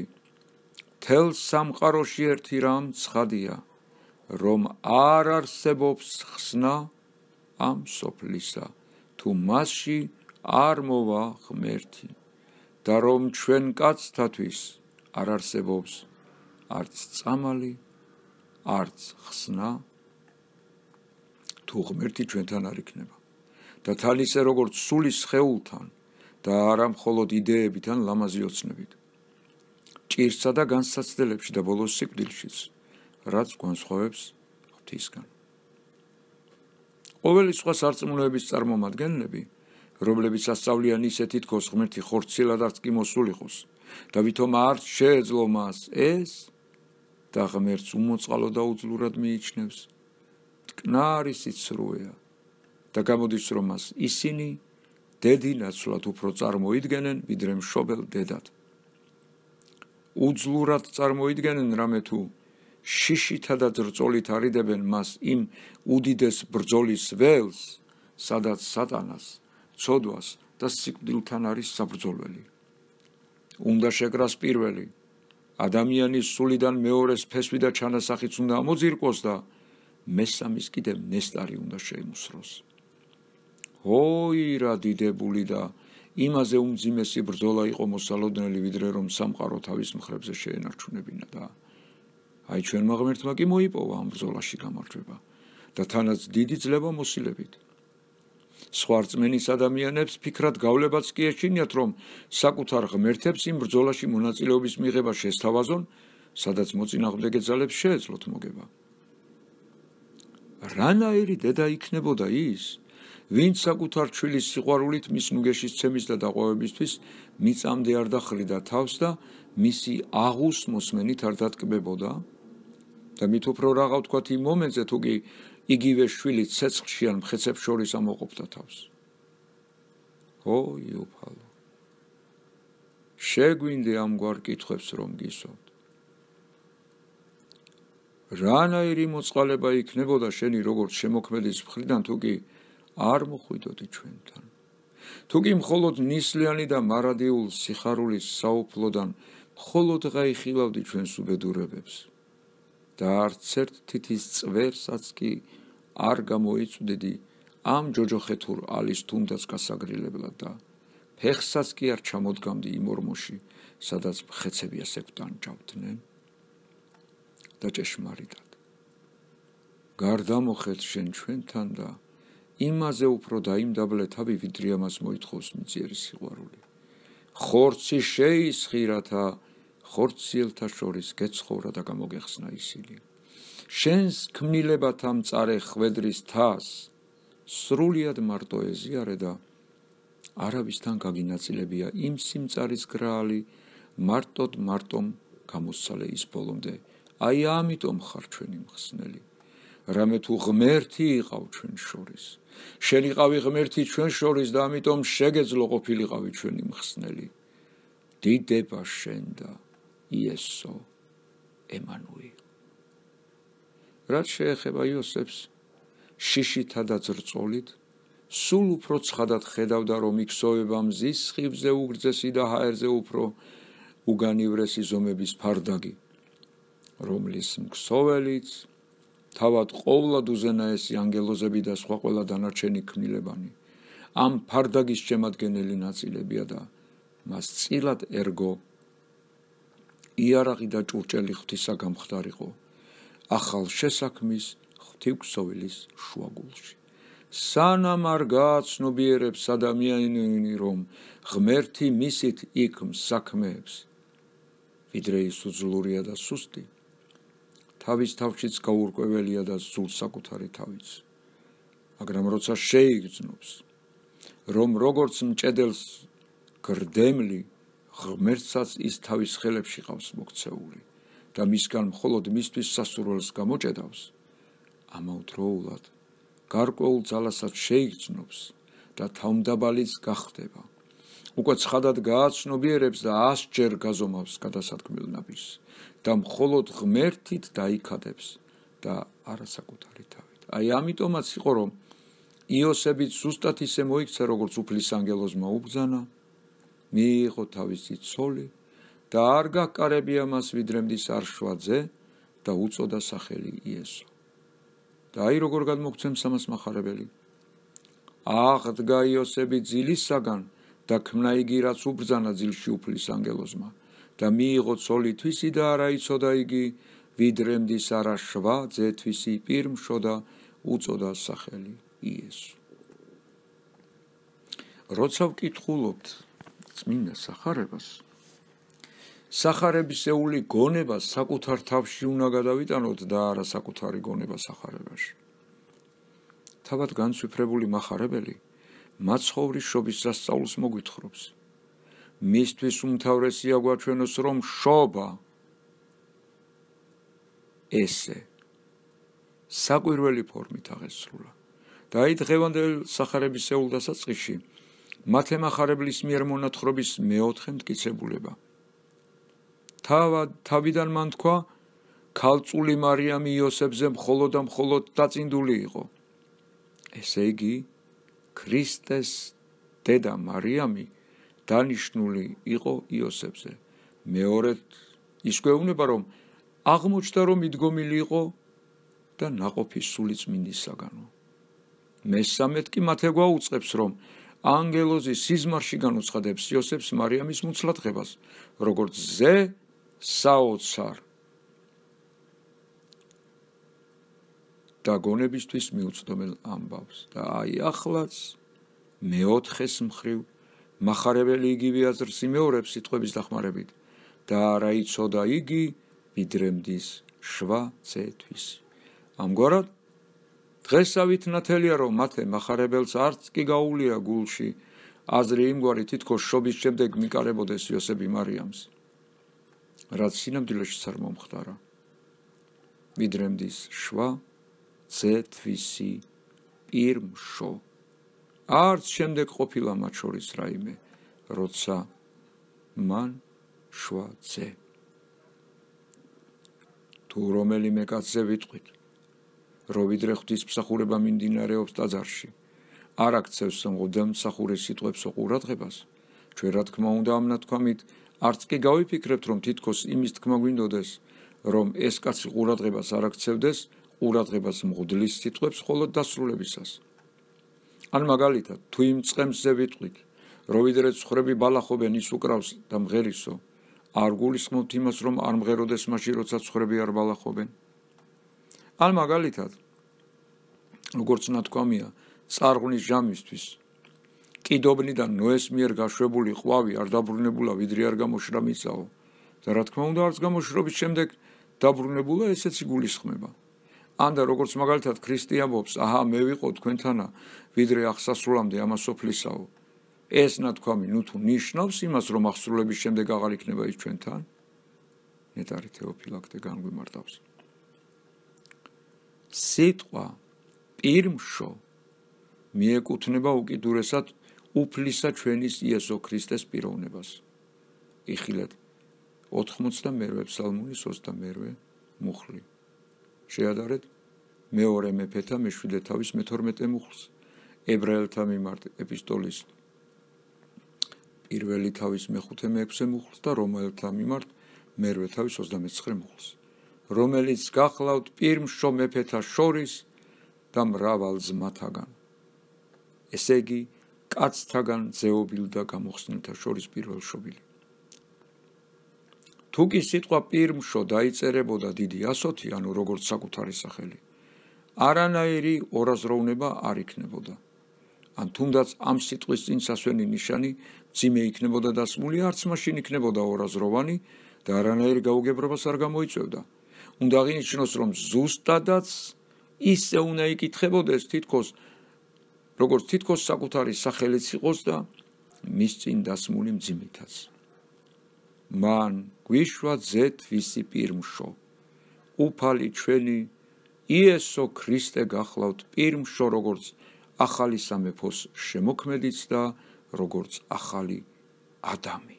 თელ სამყაროში ერთი რამ ცხადია, რომ არ არსებობს ხსნა ამ სოფლისა, თუ მასში არ მოვა ღმერთი და რომ ჩვენ კაცთათვის არ არსებობს არც წამალი, არც ხსნა, თუ ღმერთი ჩვენთან არ იქნება. და თან ისე როგორც სულის სხეულთან და არა მხოლოდ იდეებით ან ლამაზი ოცნებით. ჭირსა და განსაცდელებში და ბოლოს სიკვდილშიც, რაც განსხვავებს ღვთისგან. ყოველი სხვა სარწმუნოების წარმომადგენლები, რომლებიც ასწავლიან ისე თითქოს ღმერთი ხორციელად არც კი მოსულ იყოს და ვითომ არც შეეძლო მას ეს და ღმერთს უმოწყალო და უძლურად მიიჩნევს, მტკნარი სიცრუეა და გამოდის, რომ მას ისინი დედინაცვლად უფრო წარმოიდგენენ, ვიდრე მშობელ დედად. უძლურად წარმოიდგენენ რამე თუ შიშითა და ძრწოლით არიდებენ მას იმ უდიდეს ბრძოლის ველს, სადაც სატანას, ცოდვას და სიკვდილთან არის საბრძოლველი. უნდა შეკრას პირველი, ადამიანის სულიდან მეორეს ფესვი და ჩანასახიც უნდა ამოძირკოს და მესამის კიდევ ნესტარი უნდა შეიმუსროს. ой რა დიდებული და იმაზე უმძიმესი ბრძოლა იყო მოსალოდნელი, ვიდრე რომ სამყარო თავის მხრებზე შეენარჩუნებინა და აი ჩვენმა ღმერთმა კი მოიპოვა ამ ბრძოლაში გამარჯვება და თანაც დიდი ძლება მოსილებით. სხვა რწმენის ადამიანებს ფიქრად გავლებაც კი ეჩინიათ, რომ საკუთარ ღმერთებს იმ ბრძოლაში მონაწილეობის მიღება შესთავაზონ, სადაც მოწინააღმდეგე ძალებს შეეძლოთ მოგება. რანაირი დედა იქნებოდა ის, ვინც საკუთარ ჩვილის სიყვარულით მის ნუგეშის ცემის და დაყვავებისთვის მიწამდე არ დახრიდა თავს და მისი აღუს მოსმენით არ დატკბებოდა და მით უფრო რაღა ვთქვათ იმ მომენტზე, თუ კი იგივე შვილი ცეცხლში ან მხეცებს შორის ამოყოფდა თავს. ой უფალო, შეგვინდე ამგვარ კითხვებს რომ გისვათ. რანაირი მოწყალება იქნებოდა შენი როგორც შემოქმედის მხრიდან, თუ კი არ მოხვიდოდი ჩვენთან. თუ კი მხოლოდ ნისლიანი და მარადიულ სიხარულის საუფლოდან მხოლოდ გაიხილავდი ჩვენს უბედურებებს და არც ერთ თითის წვერსაც კი არ გამოიწვდიდი ამ ჯოჯოხეთურ ალის თუნდაც გასაგრილებლად და ფეხსაც კი არ ჩამოდგამდი იმ ორმოში, სადაც მხეცები ასე გვტანჯავდნენ და ჭეშმარიტად გარდამოხეთ შენ ჩვენთან და იმაზე უფრო დაიმდაბლე თავი, ვიდრე ამას მოითხოვს მიწიერი სიყვარული. ხორცი შეისხი, რათა ხორციელთა შორის გეცხოვრა და გამოგეხსნა ისინი. შენს ქმნილებათა მწარე ხვედრის თას სრულიად მარტო ეზიარე და არავისთან გაგინაწილებია იმ სიმწარის გრაალი მარტომ გამოსცალე ის ბოლომდე. აი ამიტომ ხარ ჩვენი მხსნელი. რამე თუ ღმერთი იყავ ჩვენ შორის, შენ იყავი ღმერთი ჩვენ შორის და ამიტომ შეგეძლო ყოფილიყავი ჩვენი მხსნელი. დიდება შენ და იესო ემანუილ. რაც შეეხება იოსებს, შიშითა და ძრწოლით, სულ უფრო ცხადად ხედავდა, რომ იქსოვება მზის სხივზე უგრძესი და ჰაერზე უფრო უგანივრესი ზომების ფარდაგი, რომლის მქსოველიც თავად ყოვლად უზენაესი ანგელოზები და სხვა ყველა დანარჩენი ქმნილებანი ამ ფარდაგის შემადგენელი ნაწილებია და მას წილად ერგო იარაღი და ჭურჭელი ღვთისა გამხდარიყო ახალ შესაქმის ღვთივქსოვილის შუაგულში. სანამ არ გააცნობიერებს ადამიანი, რომ ღმერთი მისით იქ მსაქმეებს, ვიდრე ის უძლურია და სუსტი, თავის თავშიც გაურკვეველია და ზულს საკუთარი თავიც. მაგრამ როცა შეიგრძნობს, რომ როგორც მჭედელს გრდემლი, ღმერთსაც ის თავის ხელებში ყავს მოქცეული და მისგან მხოლოდ მისთვის სასურველს გამოჭედავს, ამავდროულად გარკვეულ ძალასაც შეიგრძნობს და თავმდაბალიც გახდება. უკვე ცხადად გააცნობიერებს და 100 ჯერ გაზომავს გადასადგმელ ნაბიჯს და მხოლოდ ღმერთით დაიქადებს და არა საკუთარი თავით. აი ამიტომაც იყო, რომ იოსებიც ზუსტად ისე მოიქცა, როგორც უფლის ანგელოზმა უბრძანა, მიიღო თავისი ცოლი და არ გაკარებია მას ვიდრემდის არ შვა ძე და უწოდა სახელი იესო. და აი როგორ გადმოგცემს ამას მახარებელი. აღდგა იოსები ძილისაგან და ქმნა იგი, რაც უბრძანა ძილში უფლის ანგელოზმა და მიიღო ცოლი თვისი და არა იცოდა იგი ვიდრემდის არა შვა ძე თვისი პირმშო და უწოდა სახელი იესო. როცა ვკითხულობთ წმინდა სახარებას, სახარებისეული გონება საკუთარ თავში უნდა გადავიტანოთ და არა საკუთარი გონება სახარებაში. თავად განცვიფრებული მახარებელი მაცხოვრის შობის სასწაულს მოგვითხრობს. მისთვის უმთავრესია გვაჩვენოს, რომ შობა ესე საკვირველი ფორმით აღესრულა. და აი დღევანდელ სახარებისეულ დასაწყისში მათე მახარებლის მიერ მონათხრობის მეოთხე მტკიცებულება. თავიდან მან თქვა, ქალწული მარიამი იოსებზე მხოლოდ და მხოლოდ დაწინდული იყო. ესე იგი, ქრისტეს დედა მარიამი დანიშნული იყო იოსებზე. მეორედ ის გვეუბნება, რომ აღმოჩნდა, რომ მიდგომილი იყო და ნაყოფი სული წმინდისაგანო. მესამედ კი მათე გვაუწყებს, რომ ანგელოზი სიზმარში განუცხადებს იოსებს მარიამის მუცლადღებას, როგორც ზე საოცარ და გონებისთვის მიუწვდომელ ამბავს. და აი ახლაც მეოთხეს მხრივ მახარებელი იგივე აზრს იმეორებს სიტყვების დახმარებით და არა იცოდა იგი ვიდრემდის შვა ძეთვის. ამგვარად დღესავით ნათელია, რომ მათე მახარებელს არც კი გაუვლია გულში აზრი იმგვარი, თითქოს შობის შემდეგ მიკარებოდეს იოსები მარიამს, რაც სინამდვილეშიც არ მომხდარა. ვიდრემდის შვა ძეთვისი პირმშო. არც შემდეგ ყოფილა მათ შორის რაიმე, როცა მან შვა ძე. თუ რომელიმე კაცზე ვიტყვით, რომ ვიდრე ღვთისმსახურება მიმდინარეობს ტაძარში, არ აქცევს მღვდელმსახურის სიტყვებს ყურადღებას, ჩვენ რა თქმა უნდა ამ ნათქვამით არც კი გავიფიქრებთ, რომ თითქოს იმის თქმა გვინდოდეს, რომ ეს კაცი ყურადღებას არ აქცევდეს ყურადღებას მღვდლის სიტყვებს მხოლოდ დასრულებისას. ან მაგალითად, თუ იმ წყემსზე ვიტყვით, რომ ვიდრე ცხვრები ბალახობენ ის უკრავს და მღერისო, არ გულისხმობთ იმას, რომ არ მღეროდეს მაშინ, როცა ცხვრები არ ბალახობენ. ან მაგალითად, როგორც ნათქვამია, წარღვნის ჟამისთვის კიდობნიდან ნოეს მიერ გაშვებული ყვავი არ დაბრუნებულა, ვიდრე არ გამოშრა მიწაო და რა თქმა უნდა არც გამოშრობის შემდეგ დაბრუნებულა, ესეც იგულისხმება. ან და როგორც მაგალითად ქრისტე ამბობს, აჰა მე ვიყო თქვენთანა, ვიდრე აღსასრულამდე ამას სოფლისაო. ეს ნათქვამი ნუ თუ ნიშნავს იმას, რომ აღსრულების შემდეგ აღარ იქნება ის ჩვენთან, ნეტარი თეოფილაქტე განგვიმარტავს. სიტყვა პირმშო მიეკუთვნება უკიდურესად უფლისა ჩვენის იესო ქრისტეს პიროვნებას. იხილეთ 82 ფსალმუნის 22 მუხლი. შეადარეთ მეორე მეფეთა მე-7 თავის მე-12 მუხლს, ებრაელთა მიმართ ეპისტოლის პირველი თავის მე-5 მე-6 მუხლს და რომაელთა მიმართ მე-8 თავის 29 მუხლს, რომელიც გახლავთ პირმშო მეფეთა შორის და მრავალ ძმათაგან. ესე იგი, კაცთაგან ძეობილ და გამოხსნილთა შორის პირველშობილი. თუ კი სიტყვა პირმშო დაიწერებოდა დიდი ასოთი, ანუ როგორც საკუთარი სახელი, არანაირი ორაზროვნება არ იქნებოდა. ან თუნდაც ამ სიტყვის წინ სასვენი ნიშანი მძიმე იქნებოდა დასმული, არც მაშინ იქნებოდა ორაზროვანი და არანაირი გაუგებრობას არ გამოიწვევდა. უნდა აღინიშნოს, რომ ზუსტადაც ისე უნდა იკითხებოდეს როგორც თითქოს საკუთარი სახელიც იყოს და მის წინ დასმული მძიმითაც. მან გვიშვა ძეთვისი პირმშო, უფალი ჩვენი იესო ქრისტე გახლავთ პირმშო, როგორც ახალი სამეფოს შემოქმედიც და როგორც ახალი ადამი.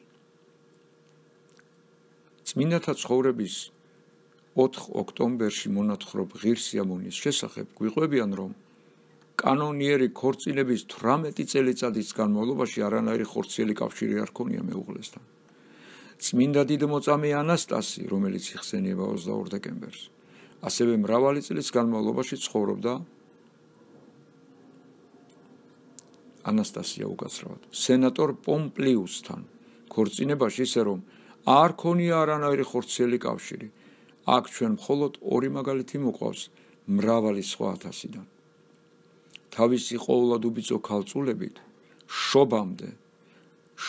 წმინდათა ცხოვრების 4 ოქტომბერში მონათხრობ ღირს სიამონის შესახებ გვიყვებიან, რომ კანონიერი ქორწინების 18 წელიწადის განმავლობაში არანაირი ხორციელი კავშირი არ ქონია მეუღლესთან. წმინდა დიდმოწამე ანასტასი, რომელიც იხსენიება 22 დეკემბერს, ასევე მრავალი წლის განმავლობაში ცხოვრობდა ანასტასია უკაცრავად სენატორ პომპლიუსთან ქორწინებაში, ისე რომ არ ქონია არანაირი ხორციელი კავშირი. აქ ჩვენ მხოლოდ ორი მაგალითი მოყავს მრავალი სხვა ათასიდან. თავისი ყოვლად უბიძო ქალწულებით შობამდე,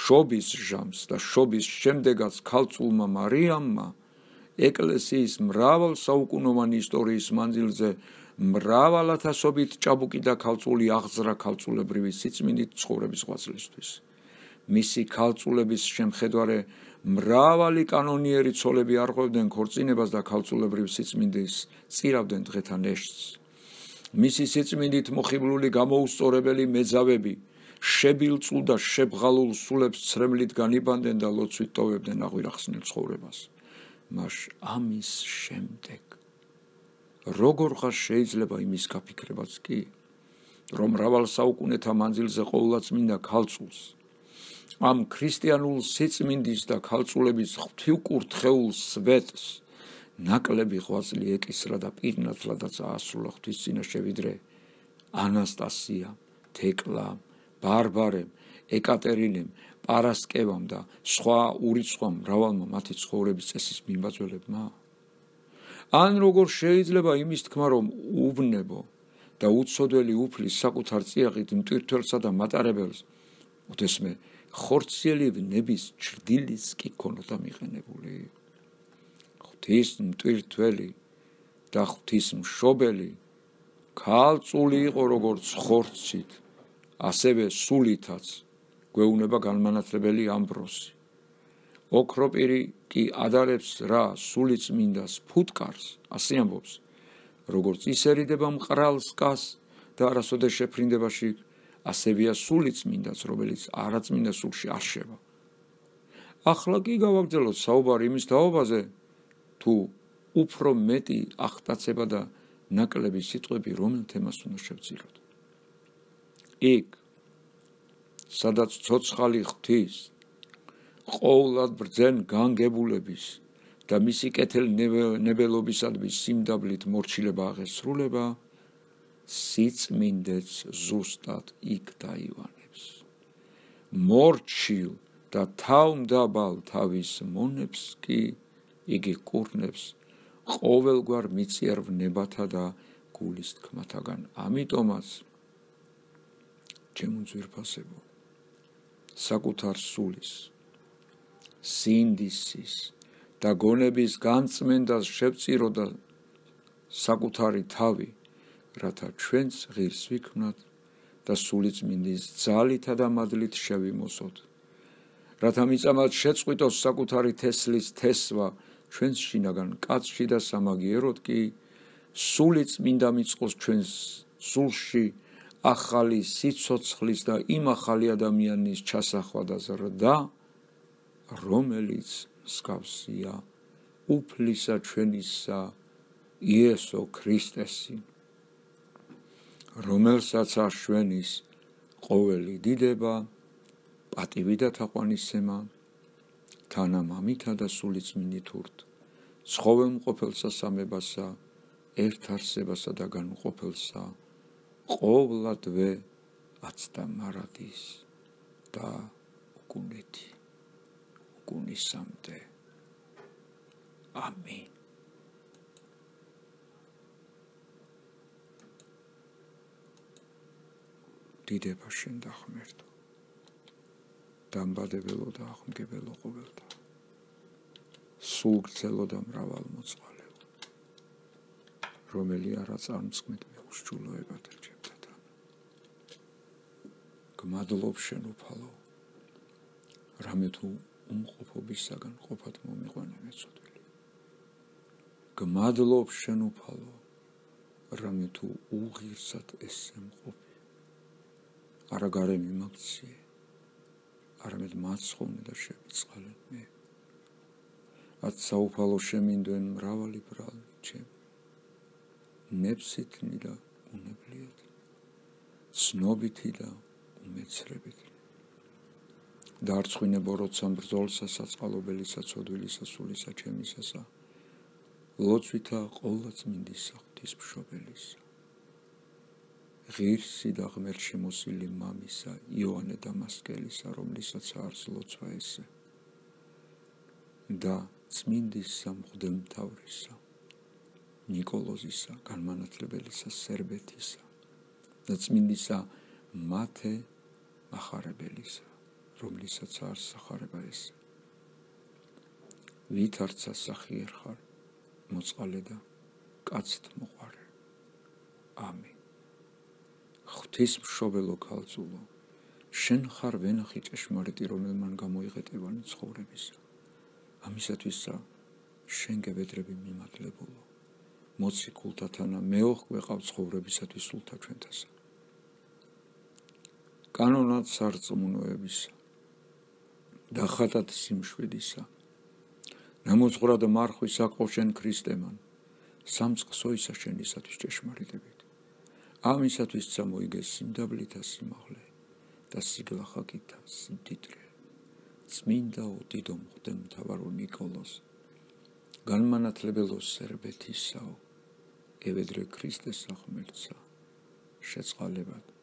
შობის ჟამს და შობის შემდეგაც ქალწულმა მარიამმა ეკლესიის მრავალ საუკუნოვანი ისტორიის მანძილზე მრავალათასობით ჭაბუკი და ქალწული აღძრა ქალწულებრივი სიწმინდით ცხოვრების ღვაწლისთვის. მისი ქალწულების შემხედარე მრავალი კანონიერი ცოლები არღვევდნენ ქორწინებას და ქალწულებრივ სიწმინდის წირავდნენ დღეთა ნეშტს. მისი სიწმინდით მოხიბლული გამოუსწორებელი მეძავები შებილწულ და შებღალულ სულებს ცრემლით განიბანდნენ და ლოცვით ტოვებდნენ აღვირახსნილ ცხოვრებას. მას ამის შემდეგ როგორღაც შეიძლება იმის გაფიქრებაც კი, რომ მრავალ საუკუნეთა მანძილზე ყოვლადწმინდა ქალწულს, ამ ქრისტიანულ სიწმინდის და ქალწულების ღვთივკურთხეულ სვეტს ნაკლები ღვაწლი ეკისრა და პირნათლადაც აასრულა ღვთის წინაშე, ვიდრე ანასტასიამ, თეკლამ, ბარბარემ, ეკატერინემ, პარასკევამ და სხვა ურიცხვამ მრავალმა მათი ცხოვრების წესის მიმბაძველებმა. ან როგორ შეიძლება იმის თქმა, რომ უვნებო და უცოდველი უფლის საკუთარ წიაღით მტვირთველსა და მატარებელს უთესმე ხორციელი ვნების ჩრდილის კი ქონოდა მიყენებული. ღვთის მტვირთველი და ღვთის მშობელი ქალწული იყო როგორც ხორცით, ასევე სულითაც, გვეუბნება განმანათლებელი ამბროსი. ოქროპირი კი ადარებს რა სულიწმინდას ფუტკარს, ასე ამბობს, როგორც ის ერიდება მყრალ სკას და არასოდეს შეფრინდებაში, ასევეა სულიწმინდაც, რომელიც არაწმინდა სულში არ შევა. ახლა კი გავაგრძელოთ საუბარი იმის თაობაზე, თუ უფრო მეტი აღტაცება და ნაკლები სიტყვები რომელ თემას უნდა შევძიროთ. იქ, სადაც ცოცხალი ღვთის ყოვლად ბრძენ განგებულების და მისი კეთილ ნებელობისადმი სიმდაბლით მორჩილება აღესრულება, სიწმინდეც ზუსტად იქ დაივანებს. მორჩილ და თავმდაბალ თავის მონებს კი იგი კურნებს ყოველგვარ მიწიერ ვნებათა და გულის თქმათაგან. ამიტომაც, ჩემო ძვირფასებო, საკუთარ სულის, სინდისის და გონების განწმენდას შევწირო და საკუთარი თავი, რათა ჩვენც ღირს ვიქმნათ და სულიწმინდის ძალითა და მადლით შევიმოსოთ, რათა მიწამად შეწყვიტოს საკუთარი თესლის თესვა ჩვენს შინაგან კაცში და სამაგიეროდ კი სულიწმინდა მიწყოს ჩვენს სულში ახალი სიცოცხლის და იმ ახალი ადამიანის ჩასახვა და ზრდა, რომელიც მსგავსია უფლისა ჩვენისა იესო ქრისტესი, რომელსაც აშვენის ყოველი დიდება, პატივი და თაყვანისცემა, თანა მამითა და სულიწმინდით ურთ, ცხოველმყოფელსა სამებასა, ერთ არსებასა და განუყოფელსა, ყოვლადვე აცდა მარადის და უგუნეთი, უგუნისამდე. ამინ. დიდება შენ და ღმერთო, დამბადებელო და აღმგებელო ყოველთა, სულგრძელო და მრავალმოწყალეო, რომელი არა წარმწყმით მეუსჯულოებათა ჩემთა თანა. გმადლობ შენ უფალო, რამე თუ უმყოფობისაგან ყოფად მომიყვანე მეწოდვილი. გმადლობ შენ უფალო, რამე თუ უღირსად ესემყოფი. არა გარე მიმაქციე, არამედ მაცხოვნე და შემიწყალე მე. ათ საუფალო შემინდვენ მრავალი ბრალნი ჩემი, ნებსითნი და უნებლიეთ, ცნობითი და უმეცრებითი. დაარწხვინებო როცა ბრძოლსა საწყალობელისა ცოდვილისა სულისა ჩემისასა ლოცვითა ყოლა წმინდისა ღვთისმშობელისა ღირსი და ღმერთ შემოსილი მამისა იოანე დამასკელისა რომლისაც არს ლოცვა ესე და წმინდისა მღვდელმთავრისა ნიკოლოზისა განმანათლებელისა სერბეთისა და წმინდისა მათე მახარებელისა რომლისაც არს სახარება ესე ვითარც ასახიერ ხარ მოწყალე და კაცთ მოყარე ამინ ღვთისმშობელო ქალწულო შენ ხარ ვენახი ჭეშმარიტი რომელმან გამოიღეტევანი ცხოვრებისა ამისათვისა შენ გებედრები მიმადლებულო მოციქულთათანა მეოხ გვეყავ ცხოვრებისათვის სულთა ჩვენთასა კანონად სარწმუნოებისა და ხატად სიმშვიდისა ნამოძღვრა და მარხვის აყო შენ ქრისტემან სამწყსოისა შენისათვის ჭეშმარიტებით ამისათვის წამოიგეს სიმდაბლითა სიმაღლე და სიგლახაკითა სიმდიდრე წმინდა უდიდო მღვდელმთავარო ნიკოლოზ განმანათლებელო სერბეთისაო ევედრე ქრისტეს ღმერთსა შეწყალებად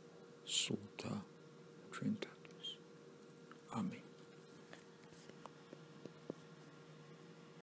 სულთა ჩვენთან